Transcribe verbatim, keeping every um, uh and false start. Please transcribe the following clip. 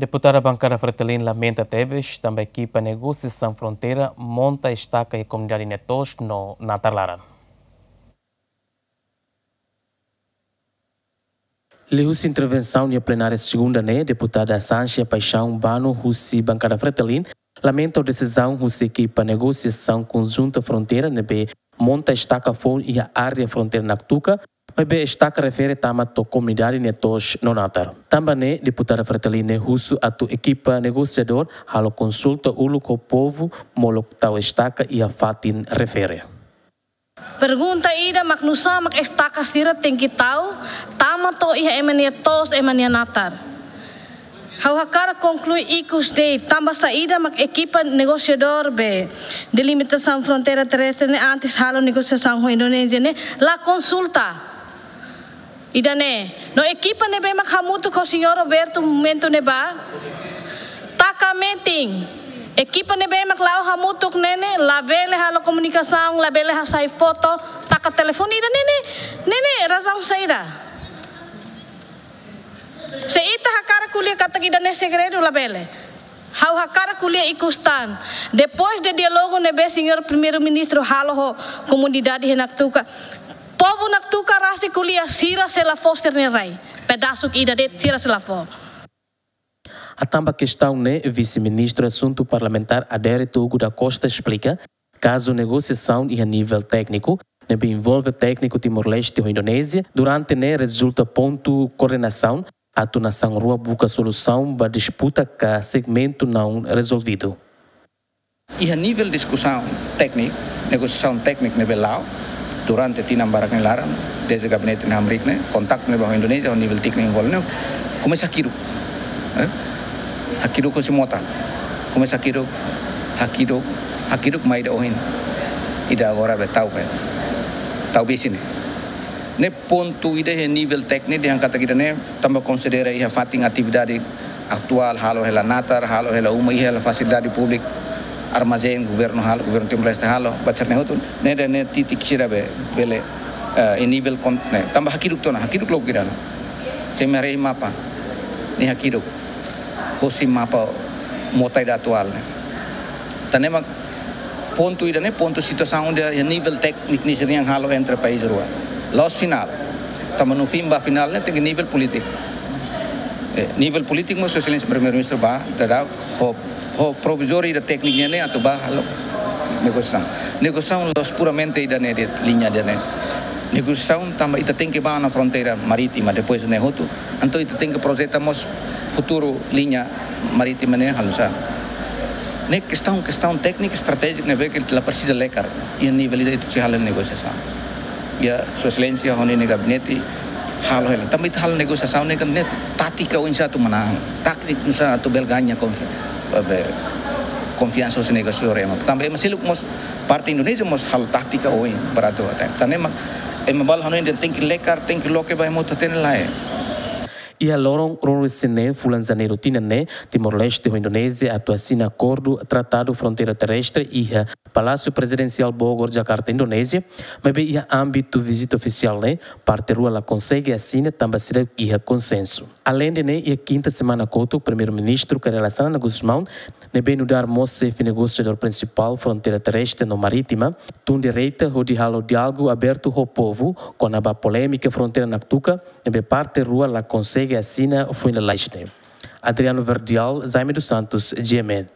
Deputada Bankada Fretilin lamenta tebes tanba ekipa negosiasaun fronteira monta estaka iha komunidade nia to'os no natar laran. Liuhusi intervensaun iha plenária segunda ne'e, deputada Sanchia Paixão Bano husi Bankada Fretilin lamenta ho desizaun husi ekipa negosiasaun konjunta fronteira ne'ebé monta estaka foun iha área fronteira Naktuka, maibé estaka refere tama to'o komunidade nia to'os no natar. Tanba ne'e, deputada Fretilin ne'e husu atu ekipa negosiadór halo konsulta uluk ho povu molok tau estaka iha fatin refere. Pergunta ida mak nusá mak estaka sira tenke tau tama to'o iha ema nia to'os, ema nia natar. Ha'u hakarak konklui ikus de'it tanba saida mak ekipa negosiadór be delimitasaun fronteira terrestre ne'e antes halo negosiasaun ho Indonézia ne'e la konsulta. Ida-ne'e, no ekipa ne'ebé mak hamutuk ho señór Roberto momentu ne'ebá, taka metin. Ekipa ne'ebé mak la'o hamutuk ne'e ne'e, labele halo komunikasaun, labele hasai foto, taka telefone ida-ne'e ne'e, ne'e ne'e razaun saida. Se ita hakarak ko'alia katak ida-ne'e segredu, labele. Ha'u hakarak ko'alia ikus tan. Depois de diálogu ne'ebé señór Primeiru-Ministru halo ho komunidade iha Naktuka, povu Naktuka rasik ko'alia sira sei la fó sira-nia rai. Pedasuk ida de'it sira sei la fó. Atamba kestaun ne'e, Vise-Ministru Asuntu Parlamentár Adérito Hugo da Costa esplika, kazu negosiasaun iha nivel tékniku, ne'ebé envolve tékniku Timor-Leste ho Indonézia, durante ne'e rezulta pontu koordenasaun, atu nasaun rua buka solusaun ba disputa ka segmentu naun rezolvidu. Iha nivel diskusaun tékniku, negosiasaun tékniku ne'ebé la'o, durante tinan barak nia laran, dezde gabinete ne'e hamriik ne'e, kontaktu ne'ebé ho Indonézia, ho nivel tékniku envolve ne'e, komesa hakiduk. Eh? Hakiduk husi mota. Komesa hakiduk, hakiduk, hakiduk mai ida ohin. Ida agora be tau be. Tau besik ne'e. Ne'e pontu ida iha nivel tékniku dehan katak ida-ne'e, tanba konsidera iha fatin atividade atuál, halo hela natar, halo hela uma, iha hela fasilidade públika, armazén, governu halo, governu Timor-Leste halo, ba sira-ne'e hotu, ne'e dehan ne'e titik sira be, bele, eh, iha nivel kon-, ne'e, tanba hakiduk tiha ona, hakiduk lubuk ida ona. Sei mai haree mapa, ne'e hakiduk, husi mapa mota ida atuál ne'e. Tan ne'e mak pontu ida-ne'e, pontu situasaun ida iha nivel tékniku ne'e sira-nian halo entre país rua. La'ós finál. Tanba no fim ba finál ne'e tenke nivel polítiku. Eh, nivel polítiku mós Sua Exelénsia Primeiru-Ministru ba, daudaun ho, ho provizóriu ida tékniku nian ne'e atu ba halo negosiasaun. Negosiasaun la'ós puramente ida-ne'e de'it, liña ida-ne'e. Negosiasaun tanba ita tenke ba ona fronteira marítima, depois ne'e hotu. Entaun ita tenke projeta mós futuru liña marítima ne'e halo sá. Ne'e kestaun, kestaun tékniku estratéjiku ne'ebé ke la presiza lekar. Iha nivel ida ita sei halo negosiasaun. Iha Sua Exelénsia ho nia gabinete halo hela. Tanba ita halo negosiasaun ne'e kan ne'e tátika oinsá atu manán. Tátika oinsá atu bele gaña konfi-, eh, be, konfiansa husi negosiadór ema. Tanba ema seluk mós parte Indonézia mós halo tátika oin baratu até. Tan ne'e mak ema balu hanoin dehan tenke lekar, tenke loke ba ema hotu hatene, lae. Iha loron ruanulu-resin-neen fulan Janeiru tinan ne'e, Timor-Leste ho Indonézia atu asina akordu tratadu fronteira terrestre iha Palásiu Prezidensiál Bogor, Jakarta, Indonézia, maibé iha ámbitu vizita ofisiál ne'e, parte rua la konsege asina tanba seidauk iha konsensu. Aleinde ne'e, iha kinta semana kotuk, Primeiru-Ministru Kay Rala Xanana Gusmão, ne'ebé nu'udar mós xefe negosiadór prinsipál fronteira terrestre no marítima, tun direta hodi halo diálogu abertu ho povu kona-ba polémika fronteira Naktuka, ne'ebé parte rua la konsege asina foin lalais ne'e. Adriano Verdial, Jaime dos Santos, G M N.